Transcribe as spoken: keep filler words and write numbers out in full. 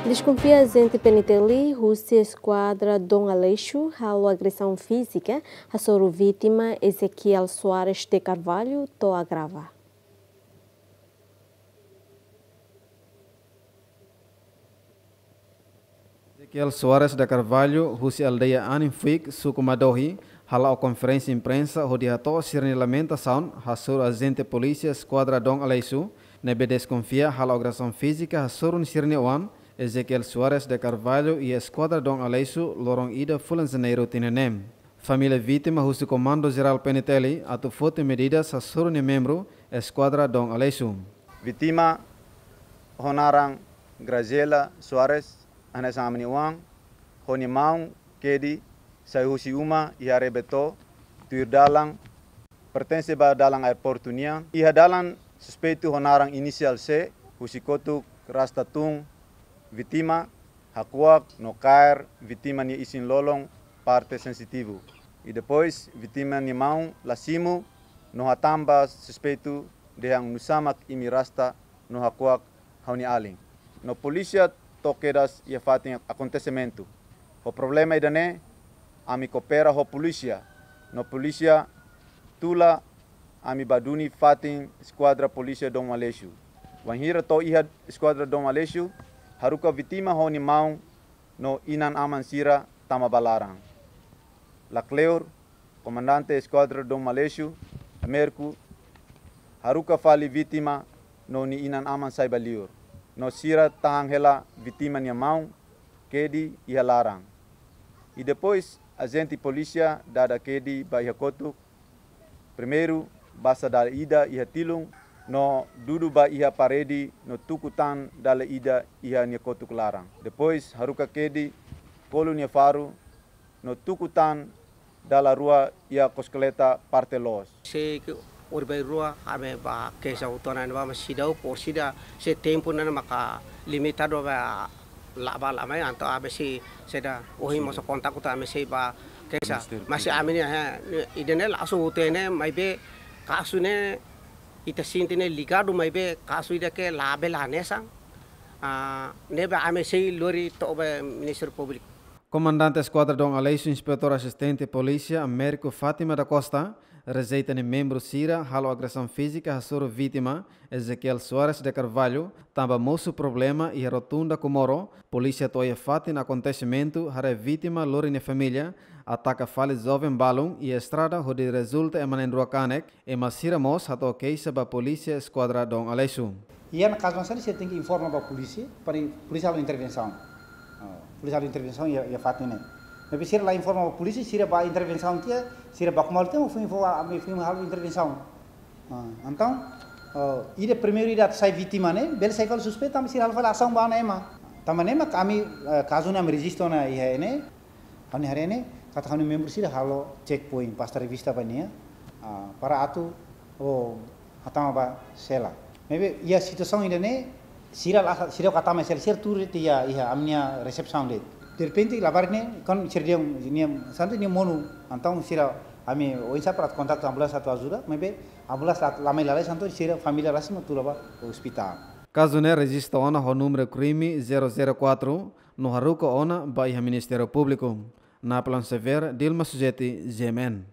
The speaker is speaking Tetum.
Deskonfia ajente P N T L husi eskuadra Dom Aleixo halo agresaun fízika hasoru vítima Ezequiel Soares de Carvalho to'o agrava. Ezequiel Soares de Carvalho, husi aldeia Aninfuik, suku Madohi, hala'o konferénsia imprensa hodi hato'o sira-nia lamentasaun hasoru ajente polísia eskuadra Dom Aleixo, ne'ebé deskonfia halo agresaun fízika hasoru sira-nia oan, Ezequiel Soares de Carvalho, iha eskuadra Dom Aleixo, loron ida fulan Janeiru tinan ne'e. Família vítima husu Komandu Jerál P N T L atu foti medidas hasoru nia membru eskuadra Dom Aleixo. Vítima ho naran Graziela Soares, hanesan ami-nia oan, ho nia maun Kedi, sai husi uma iha Rebeto, tuir dalan, pertense ba dalan aeroportu nian. Iha dalan, suspeitu ho naran inisiál C, husi kotuk rasta tun vítima, hakuak no kaer vítima nia isin-lolon parte sensitivu. I depois, vítima nia maun la simu no hatán ba suspeitu dehan nusá mak imi rasta no hakuak ha'u-nia alin. No polísia to'o kedas iha fatin akontesimentu. Ho problema ida-ne'e, ami koopera ho polísia. No polísia tula ami ba duni fatin eskuadra polísia Dom Aleixo. Wainhira to'o iha eskuadra Dom Aleixo, haruka vítima ho nia maun no inan-aman sira tama ba laran. Lakleur, komandante eskuadra Dom Aleixo, Américo, haruka fali vítima no nia inan-aman sai ba liur. No sira tahan hela vítima nia maun, Kedi, iha laran. I depois, ajente polísia dada Kedi ba iha kotuk, primeiru, basa dala ida iha tilun, no dudu ba iha parede, no tuku tan dala ida iha nia kotuk laran. Depois, haruka Kedi, kolu nia faru, no tuku tan dala rua iha koskoleta parte loos. Sei ke ori bai rua, ami ba keixa uitoan ne'ebá, mas seidauk, por sida, sei tempu ne'e maka limitadu ba la ba la mai, entaun ami sei, sei da, ohin mós kontaktu ami sei ba keixa. Ministériu Mas Públiku. Ami-nia, he, ida-ne'e langsung uitoan ne'e, maibé kazu ne'e, ita sente ne'e ligadu, maibé kazu ida ke labele hanesan. Ah, ne'ebé ami sei lori to'o ba Ministériu Públiku. Komandante Eskuadra Dom Aleixo, Inspetór Asistente Polísia Américo Fátima da Costa, rejeita nia membru sira halo agresaun fízika hasoru vítima, Ezequiel Soares de Carvalho, tanba mosu problema iha rotunda Comoro, polísia to'o iha fatin akontesimentu, haree vítima lori nia família, ataka fali joven balun iha estrada hodi rezulta ema na'in-rua kanek, ema sira mós hato'o keixa ba polísia eskuadra Dom Aleixo. Iha ona kazu hanesan ne'e sira tenke informa ba polísia, para polísia halo intervensaun. Ah, polísia halo intervensaun iha, iha fatin ne'e. Maibé sira la informa ba polísia, sira ba intervensaun tiha, sira baku malu tiha, foin fó, ami foin halo intervensaun. Ah, entaun, ah, ida primeiru ida atu sai vítima ne'e, bele sai fali suspeitu, tanba sira halo fali asaun ba ona ema. Tanba ne'e mak ami, eh, kazu ne'e ami rejistu ona iha ne'e, ha'u-nia haree ne'e, katak ha'u-nia membru sira halo checkpoint, pasta revista ba nia, ah, para atu, oh, hatama ba sela. Maibé, iha situasaun ida-ne'e, sira la, sira ka hatama sela, sira tuur de'it iha, iha ami-nia resepsaun de'it. Derrepente, labarik ne'e, kan sira dehan, nia, santu nia monu, entaun sira, ami, oinsá para kontaktu ambulánsia atu ajuda, maibé, ambulánsia la, la mai lalais, entaun sira família rasik mak tula ba ospitál. Kazu ne'e rejista ona ho númeru krime zero zero quatro, no haruka ona ba iha Ministériu Públiku. Naplan Xavier, Dilma Sujeti, G M N.